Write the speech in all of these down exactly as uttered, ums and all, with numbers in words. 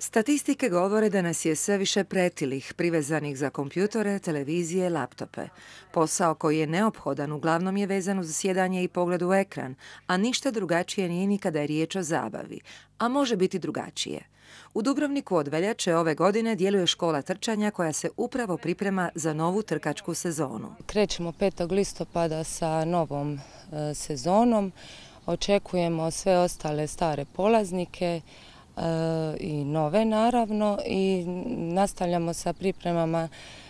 Statistike govore da nas je sve više pretilih, privezanih za kompjutore, televizije, laptope. Posao koji je neophodan uglavnom je vezan uz sjedanje i pogled u ekran, a ništa drugačije nije ni kada je riječ o zabavi, a može biti drugačije. U Dubrovniku od veljače ove godine djeluje škola trčanja koja se upravo priprema za novu trkačku sezonu. Krećemo petog listopada sa novom e, sezonom. Očekujemo sve ostale stare polaznike e, i nove naravno i nastavljamo sa pripremama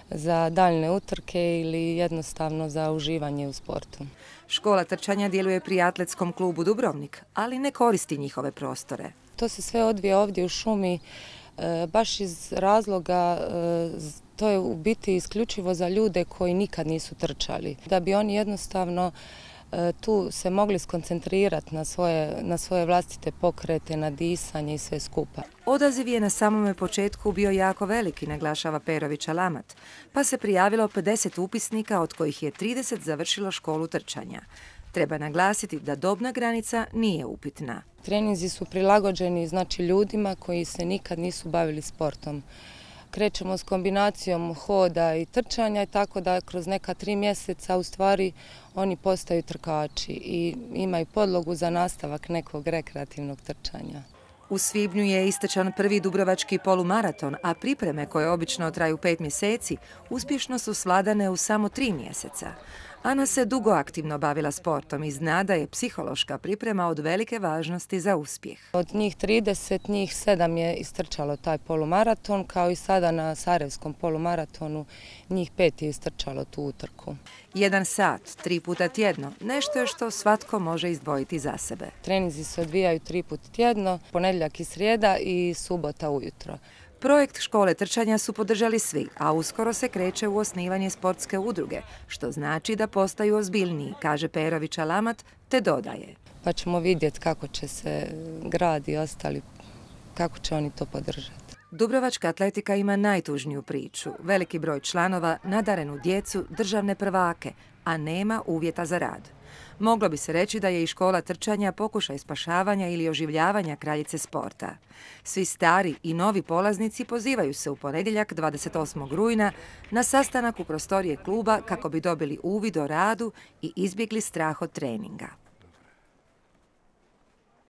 za daljne utrke ili jednostavno za uživanje u sportu. Škola trčanja djeluje pri Atletskom klubu Dubrovnik, ali ne koristi njihove prostore. To se sve odvija ovdje u šumi e, baš iz razloga, e, to je u biti isključivo za ljude koji nikad nisu trčali. Da bi oni jednostavno e, tu se mogli skoncentrirati na svoje, na svoje vlastite pokrete, na disanje i sve skupa. Odaziv je na samome početku bio jako veliki, naglašava Perović Alamat, pa se prijavilo pedeset upisnika, od kojih je trideset završilo školu trčanja. Treba naglasiti da dobna granica nije upitna. Treninzi su prilagođeni znači ljudima koji se nikad nisu bavili sportom. Krećemo s kombinacijom hoda i trčanja, tako da kroz neka tri mjeseca u stvari oni postaju trkači i imaju podlogu za nastavak nekog rekreativnog trčanja. U svibnju je istečan prvi dubrovački polumaraton, a pripreme koje obično traju pet mjeseci uspješno su svladane u samo tri mjeseca. Ana se dugo aktivno bavila sportom i zna da je psihološka priprema od velike važnosti za uspjeh. Od njih trideset, njih sedam je istrčalo taj polumaraton, kao i sada na Sarajevskom polumaratonu njih pet je istrčalo tu utrku. Jedan sat, tri puta tjedno, nešto je što svatko može izdvojiti za sebe. Treninzi se odvijaju tri puta tjedno, ponedjeljak i srijeda i subota ujutro. Projekt škole trčanja su podržali svi, a uskoro se kreće u osnivanje sportske udruge, što znači da postaju ozbiljniji, kaže Perović Alamat, te dodaje. Pa ćemo vidjeti kako će se grad i ostali, kako će oni to podržati. Dubrovačka atletika ima najtužniju priču, veliki broj članova, nadarenu djecu, državne prvake, a nema uvjeta za rad. Moglo bi se reći da je i škola trčanja pokušaj spašavanja ili oživljavanja kraljice sporta. Svi stari i novi polaznici pozivaju se u ponedjeljak dvadeset osmog rujna na sastanak u prostorije kluba kako bi dobili uvid o radu i izbjegli strah od treninga.